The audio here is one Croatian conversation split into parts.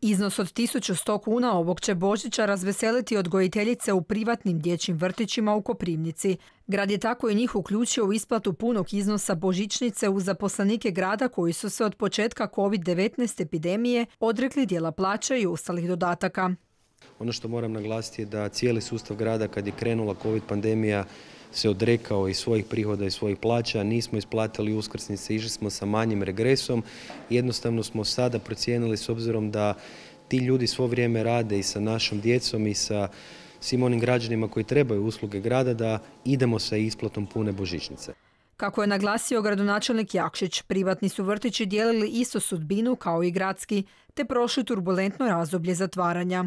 Iznos od 1100 kuna ovog će Božića razveseliti odgojiteljice u privatnim dječjim vrtićima u Koprivnici. Grad je tako i njih uključio u isplatu punog iznosa božićnice uz zaposlenike grada koji su se od početka COVID-19 epidemije odrekli dijela plaće i ostalih dodataka. Ono što moram naglasiti je da cijeli sustav grada kad je krenula COVID pandemija se odrekao i svojih prihoda i svojih plaća, nismo isplatili uskrsnice, išli smo sa manjim regresom. Jednostavno smo sada procijenili s obzirom da ti ljudi svo vrijeme rade i sa našom djecom i sa svim onim građanima koji trebaju usluge grada da idemo sa isplatom pune božićnice. Kako je naglasio gradonačelnik Jakšić, privatni su vrtići dijelili istu sudbinu kao i gradski, te prošli turbulentno razdoblje zatvaranja.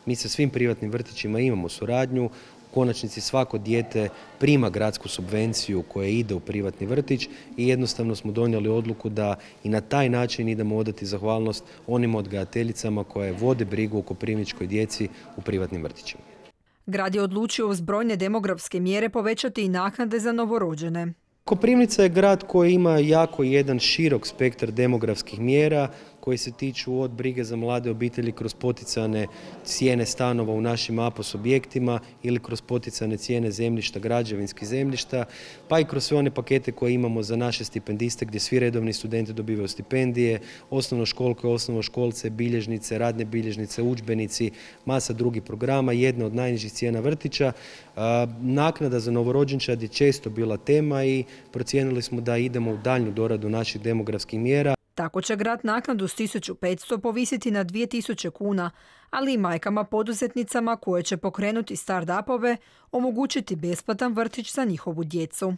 Mi sa svim privatnim vrtićima imamo suradnju. U konačnici svako dijete prima gradsku subvenciju koja ide u privatni vrtić i jednostavno smo donijeli odluku da i na taj način idemo odati zahvalnost onim odgajateljicama koje vode brigu o koprivničkoj djeci u privatnim vrtićima. Grad je odlučio uz brojne demografske mjere povećati i naknade za novorođene. Koprivnica je grad koji ima jako jedan širok spektar demografskih mjera koji se tiču od brige za mlade obitelji kroz poticane cijene stanova u našim APOS objektima ili kroz poticane cijene zemljišta, građevinskih zemljišta, pa i kroz sve one pakete koje imamo za naše stipendiste gdje svi redovni studenti dobivaju stipendije, osnovnoškolke, osnovnoškolce, bilježnice, radne bilježnice, udžbenici, masa drugih programa, jedna od najnižih cijena vrtića. Naknada za novorođenčad je često bila tema i procijenili smo da idemo u daljnju doradu naših demografskih mjera. Tako će grad naknadu s 1500 povisiti na 2000 kuna, ali i majkama poduzetnicama koje će pokrenuti start-upove omogućiti besplatan vrtić za njihovu djecu.